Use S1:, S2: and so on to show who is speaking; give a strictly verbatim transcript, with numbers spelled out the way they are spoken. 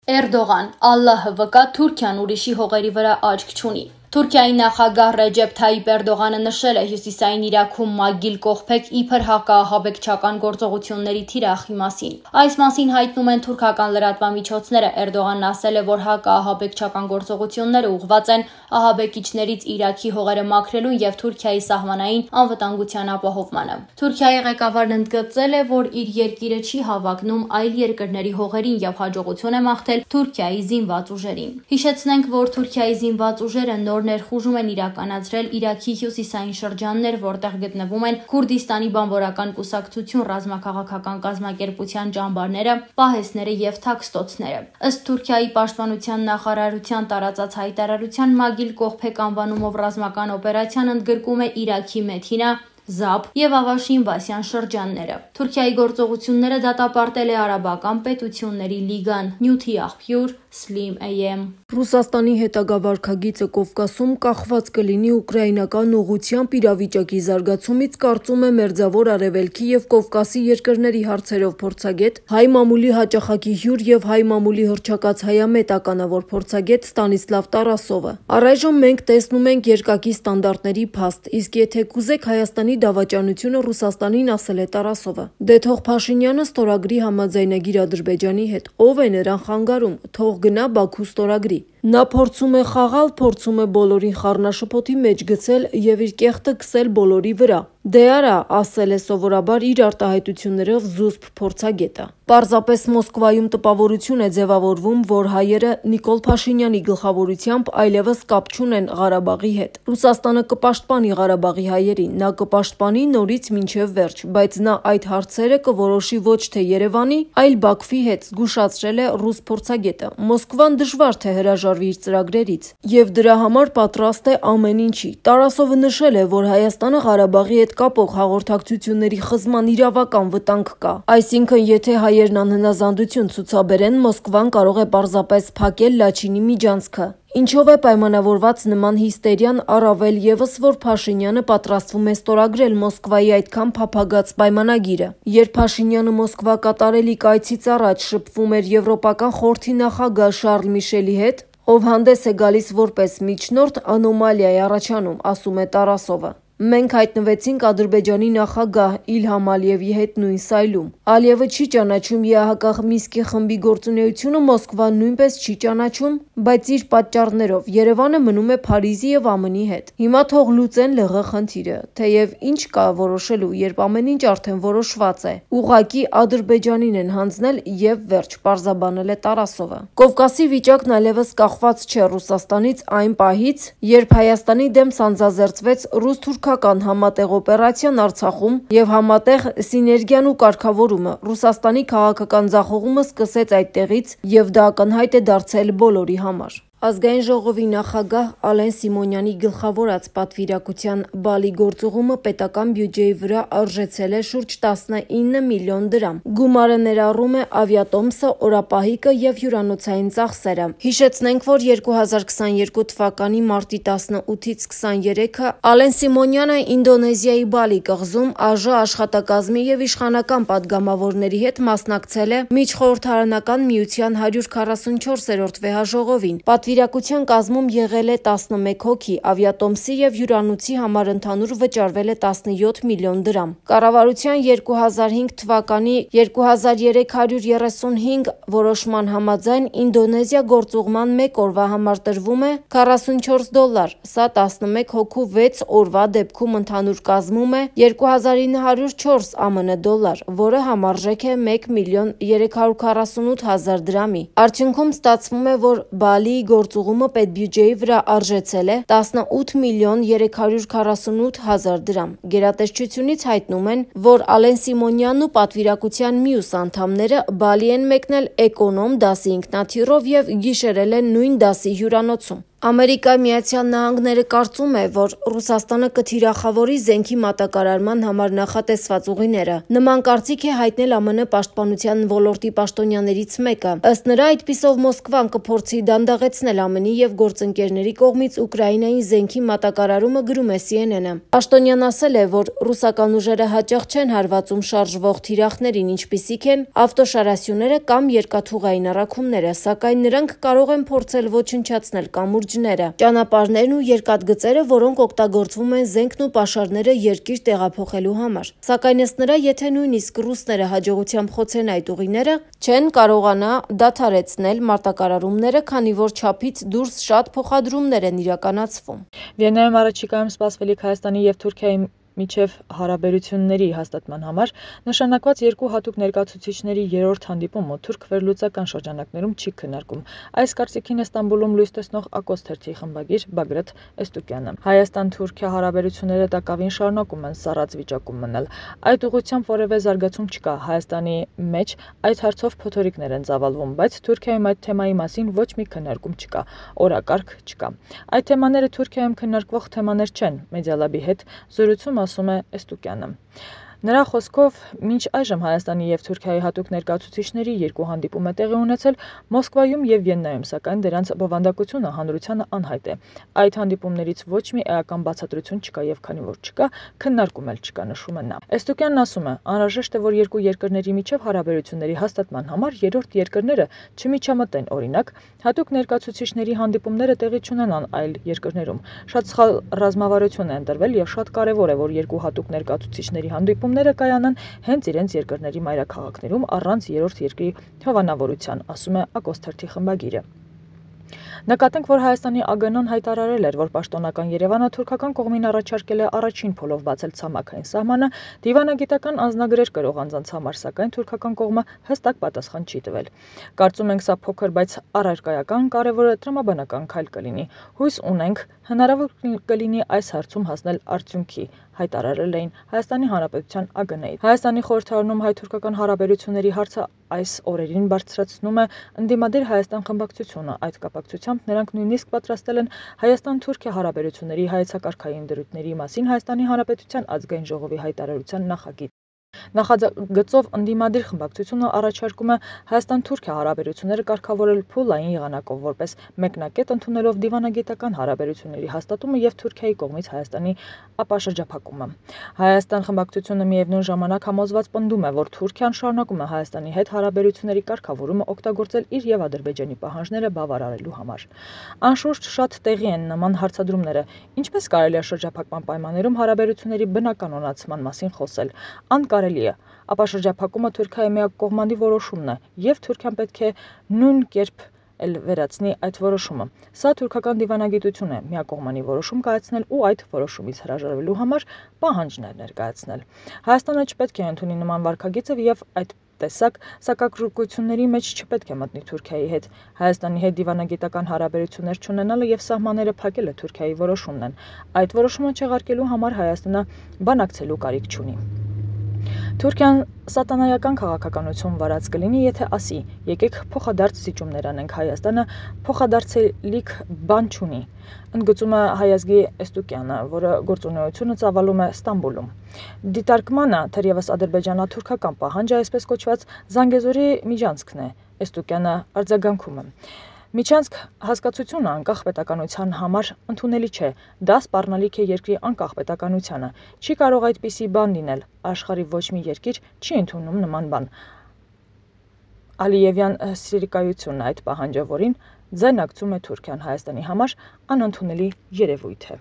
S1: Էրդողան, Ալլահը վկա, Թուրքիան ուրիշի հողերի վրա աչք չունի։ Թուրքիայի նախագահ Ռեջեփ Թայիպ Էրդողանը նշել է հյուսիսային Իրաքում ՄԱԳԻԼ կողբեք իբր հակաահաբեկչական գործողությունների թիրախի մասին։ Այս մասին հայտնում են թուրքական լրատվամիջոցները։ Էրդողանն ասել է, որ հակաահաբեկչական գործողությունները ուղղված են ահաբեկիչներից Իրաքի հողերը մաքրելուն եւ Թուրքիայի սահմանային անվտանգության ապահովմանը։ Թուրքիայի ղեկավարն ընդգծել է, որ իր երկիրը չի հավակնում այլ երկրների հողերին եւ հաջողություն է մաղթել Թուրքիայի զինված ուժերին։ Հիշեցնենք, որ Թուրքիայի զինված ուժերը նոր ներխուժում են իրականացրել Իրաքի հյուսիսային շրջաններ, որտեղ գտնվում են Քուրդիստանի բանվորական կուսակցություն ռազմաքաղաքական կազմակերպության ճամբարները, պահեսները եւ թաքստոցները։ Ըստ Թուրքիայի պաշտպանության նախարարության տարածած հայտարարության ՄԱԳԻԼ կողբեք անվանումով ռազմական օպերացիան ընդգրկում է Իրաքի Մեթինա, Զաբ եւ Ավաշին Բասյան շրջանները։ Թուրքիայի գործողությունները դատապարտել է Արաբական պետությունների լիգան, նյութի աղբյուր Slim A M։
S2: Ռուսաստանի հետագա վարքագիծը Կովկասում կախված կլինի ուկրաինական ուղղությամբ իրավիճակի զարգացումից, կարծում է Մերձավոր Արևելքի եւ Կովկասի երկրների հարցերով փորձագետ, հայ մամուլի հաճախակի հյուր եւ հայ մամուլի հռչակած հայամետ ականավոր փորձագետ Ստանիսլավ Տարասովը։ Առայժմ մենք տեսնում ենք երկակի ստանդարտների փաստ, իսկ եթե կուզեք Հայաստանի դավաճանությունը Ռուսաստանին, ասել է Տարասովը։ Դե թող Փաշինյանը ստորագրի համաձայնագիր Ադրբեջանի հետ, ով է նրան խանգարում, թող գնա Բաքու ստորագրի։ Նա փորձում է խաղալ, փորձում է բոլորին խառնաշփոթի մեջ գցել եւ իր կեղտը քսել բոլորի վրա։ Դե արա, ասել է սովորաբար իր արտահայտություններով զուսպ փորձագետը։ Պարզապես Մոսկվայում տպավորություն է ձևավորվում, որ հայերը Նիկոլ Փաշինյանի գլխավորությամբ այլևս կապ չունեն Ղարաբաղի հետ։ Ռուսաստանը կպաշտպանի Ղարաբաղի հայերին, նա կպաշտպանի նորից մինչև վերջ, բայց նա այդ հարցերը կորոշի ոչ թե Երևանի, այլ Բաքվի հետ, զգուշացրել է ռուս փորձագետը։ Մոսկվան դժվար թե հրաժարվի իր ծրագրերից եւ դրա համար պատրաստ է ամեն ինչի։ Տարասովը նշել է, որ Հայաստանը Ղարաբաղի հետ կապող հաղորդակցությունների խզման իրավական վտանգ կա։ Այսինքն, եթե հայերն անհնազանդություն ցուցաբերեն, Մոսկվան կարող է պարզապես փակել Լաչինի միջանցքը։ Ինչով է պայմանավորված նման հիստերիան, առավել եւս, որ Փաշինյանը պատրաստվում է ստորագրել Մոսկվայի այդքան փափագած պայմանագիրը։ Երբ Փաշինյանը Մոսկվա կատարելիք այցից առաջ շփվում էր Եվրոպական խորհրդի նախագահ Շարլ Միշելի հետ, ով հանդես է գալիս որպես միջնորդ, անոմալիա է առաջանում, ասում է Տարասովը։ Մենք հայտնվեցինք Ադրբեջանի նախագահ Իլհամ Ալիևի հետ նույն սայլում։ Ալիևը չի ճանաչում ԵԱՀԿ Մինսկի խմբի գործունեությունը, Մոսկվան նույնպես չի ճանաչում, բայց իր պատճառներով Երևանը մնում է Փարիզի եւ ԱՄՆ-ի հետ։ Հիմա թող լուծեն ԼՂ խնդիրը, թեև ինչ կա որոշելու, երբ ամեն ինչ արդեն որոշված է։ Ուղղակի Ադրբեջանին են հանձնել եւ վերջ, պարզաբանել է Տարասովը։ Կովկասի վիճակն այլևս կախված չէ Ռուսաստանից այն պահից, երբ Հայաստանի դեմ սանձազերծվեց ռուս-թուրքական համատեղ օպերացիան Արցախում եւ համատեղ սիներգիան ու կարգավորումը։ Ռուսաստանի քաղաքական ձախողումը սկսեց այդտեղից եւ դա ակնհայտ է դարձել բոլորի համար։ Ազգային ժողովի նախագահ Ալեն Սիմոնյանի գլխավորած պատվիրակության Բալի գործուղումը պետական բյուջեի վրա արժեցել է շուրջ տասնինը միլիոն դրամ։ Գումարը ներառում է ավիատոմսը, օրապահիկը եւ հյուրանոցային ծախսերը։ Հիշեցնենք, որ երկու հազար քսաներկու թվականի մարտի տասնութից քսաներեքը Ալեն Սիմոնյանը Ինդոնեզիայի Բալի կղզում ԱԺ աշխատակազմի եւ իշխանական падգամավորների հետ մասնակցել է Միջխորհրդարանական միության հարյուր քառասունչորսերորդ վեհաժողովին։ Պատվիրակության կազմում եղել է տասնմեկ հոգի, ավիատոմսի եւ հյուրանոցի համար ընդհանուր վճարվել է տասնյոթ միլիոն դրամ։ Կառավարության երկու հազար հինգ թվականի երկու հազար երեք հարյուր երեսունհինգ որոշման համաձայն Ինդոնեզիա գործուղման մեկ օրվա համար տրվում է քառասունչորս դոլար, սա տասնմեկ հոգու վեց օրվա դեպքում ընդհանուր կազմում է երկու հազար ինը հարյուր չորս ԱՄՆ դոլար, որը համարժեք է մեկ միլիոն երեք հարյուր քառասունութ հազար դրամի։ Արդյունքում ստացվում է, որ Բալիի գործուղումը պետբյուջեի վրա արժեցել է տասնութ միլիոն երեք հարյուր քառասունութ հազար դրամ։ Գերատեսչությունից հայտնում են, որ Ալեն Սիմոնյանն ու պատվիրակության մյուս անդամները Բալի են մեկնել էկոնոմ դասի ինքնաթիռով եւ գիշերել են նույն դասի հյուրանոցում։ Ամերիկայի Միացյալ Նահանգները կարծում է, որ Ռուսաստանը կթիրախավորի զենքի մատակարարման համար նախատեսված ուղիները։ Նման կարծիք է հայտնել ԱՄՆ պաշտպանության ոլորտի պաշտոնյաներից մեկը։ Ըստ նրա, այդպիսով Մոսկվան կփորձի դանդաղեցնել ԱՄՆ-ի եւ գործընկերների կողմից Ուկրաինային զենքի մատակարարումը, գրում է C N N-ը։ Պաշտոնյան ասել է, որ ռուսական ուժերը հաճախ չեն հարվածում շարժվող թիրախներին, ինչպիսիք են ավտոշարասյուները կամ երկաթուղային առաքումները, սակայն նրանք կարող են փորձել ոչնչացնել կամուրջ ճանապարհներն ու երկաթգծերը, որոնք օգտագործվում են զենքն ու պաշարները երկիր տեղափոխելու համար։ Սակայն ըստ նրա, եթե նույնիսկ ռուսները հաջողությամբ խոցեն այդ ուղիները, չեն կարողանա դադարեցնել մարտակարարումները, քանի որ չափից դուրս շատ փոխադրումներ են իրականացվում։
S3: Վիեննայում առաջիկայում սպասվելիք Հայաստանի եւ Թուրքիայի միջև հարաբերությունների հաստատման համար նշանակված երկու հատուկ ներկայացուցիչների երրորդ հանդիպումը թուրք վերլուծական շրջանակներում չի քննարկում։ Այս կարծիքին է Ստամբուլում լույս տեսնող Ակոս թերթի խմբագիր Բագրատ Էստուկյանը։ Հայաստան-Թուրքիա հարաբերությունները տակավին շարունակում են սառած վիճակում մնալ։ Այդ ուղղությամբ որևէ զարգացում չկա։ Հայաստանի մեջ այդ հարցով փոթորիկներ են ծավալվում, բայց Թուրքիայում այդ թեմայի մասին ոչ մի քննարկում չկա, օրակարգ չկա։ Այդ թեմաները Թուրքիայում քննարկվող թեմաներ չեն, Մեդիալաբի հետ զրույցում ասում է Էստուկյանը։ Նրա խոսքով, մինչ այժմ Հայաստանի եւ Թուրքիայի հատուկ ներկայացուցիչների երկու հանդիպում է տեղի ունեցել Մոսկվայում եւ Վիեննայում, սակայն դրանց բովանդակությունը հանրությանը անհայտ է։ Այդ հանդիպումներից ոչ մի էական բացատրություն չկա եւ քանի որ չկա, քննարկում էլ չկա, նշում է նա։ Էստուկյանն ասում է, անհրաժեշտ է, որ երկու երկրների միջև հարաբերությունների հաստատման համար երրորդ երկրները չմիջամտեն, օրինակ, հատուկ ներկայացուցիչների հանդիպումները տեղի չունենան այլ երկրներում։ Շատ սխալ ռազմավարություն է ընտրվել եւ շատ կարեւոր է, որ երկու հատուկ ներկայացուցիչների հանդիպումները կայանան հենց իրենց երկրների մայրաքաղաքներում առանց երրորդ երկրի հովանավորության, ասում է Ակոս թերթի խմբագիրը։ Նկատենք, որ Հայաստանի Ա Գ Ն-ն հայտարարել էր, որ պաշտոնական Երևանը թուրքական կողմին առաջարկել է առաջին փոլով բացել ցամաքային սահմանը դիվանագիտական անձնագրեր կրող անձանց համար, սակայն թուրքական կողմը հստակ պատասխան չի տվել։ Կարծում ենք, սա փոքր, բայց առարկայական կարևոր տրամաբանական քայլ կլինի։ Հույս ունենք, հնարավոր կլինի այս հարցում հասնել արդյունքի, հայտարարել էին Հայաստանի Հանրապետության Ա Գ Ն-ի։ Հայաստանի խորհրդարանում հայ-թուրքական հարաբերությունների հարցը այս օրերին բարձրացնում է ընդդիմադիր Հայաստան խմբակցությունը։ Այդ կապակցությամբ նրանք նույնիսկ պատրաստել են Հայաստան-Թուրքիա հարաբերությունների հայեցակարգային դրույթների մասին Հայաստանի Հանրապետության ազգային ժողովի հայտարարության նախագիծ։ Նախագծով ընդդիմադիր խմբակցությունը առաջարկում է Հայաստան-Թուրքիա հարաբերությունները կարգավորել փուլային եղանակով, որպես մեկնակետ ընդունելով դիվանագիտական հարաբերությունների հաստատումը եւ Թուրքիայի կողմից Հայաստանի ապաշրջափակումը։ Հայաստան խմբակցությունը միևնույն ժամանակ համոզված պնդում է, որ Թուրքիան շարունակում է Հայաստանի հետ հարաբերությունների կարգավորումը օգտագործել իր եւ Ադրբեջանի պահանջները բավարարելու համար։ Անշուշտ շատ տեղի են նման հարցադրումները։ Ինչպես կարելի է շրջափակման պայմաններում հարաբերությունների բնականոնացման մասին խոսել։ Անկարելի է։ Ապաշրջափակումը Թուրքիայի միակողմանի որոշումն է, եւ Թուրքիան պետք է նույն կերպ էլ վերացնի այդ որոշումը։ Սա թուրքական դիվանագիտություն է՝ միակողմանի որոշում կայացնել ու այդ որոշումից հրաժարվելու համար պահանջներ ներկայացնել։ Հայաստանը չպետք է ընդունի նման վարքագիծը եւ այդ տեսակ սակակրկությունների մեջ չպետք է մտնի Թուրքիայի հետ։ Հայաստանի հետ դիվանագիտական հարաբերություններ չունենալը եւ սահմանները փակելը Թուրքիայի որոշումն են։ Այդ որոշումը չեղարկելու համար Հայաստանը բանակցելու կարիք չունի։ Թուրքիան սատանայական քաղաքականություն վարած կլինի, եթե ասի՝ եկեք փոխադարձ զիջումներ անենք, Հայաստանը փոխադարձելիք բան չունի, ընդգծում է Հայազգի Էստուկյանը, որը գործունեությունը ծավալում է Ստամբուլում։ Դիտարկմանը թերևս ադրբեջանա-թուրքական պահանջը այսպես կոչված Զանգեզուրի միջանցքն է, Էստուկյանը արձագանքում է։ Միջանցք հասկացությունը անկախ պետականության համար ընդունելի չէ, դա սպառնալիք է երկրի անկախ պետականությանը, չի կարող այդպիսի բան լինել, աշխարհի ոչ մի երկիր չի ընդունում նման բան։ Ալիևյան սիրիկայությունն այդ պահանջը, որին ձայնարկում է Թուրքիան, Հայաստանի համար անընդունելի երևույթ է։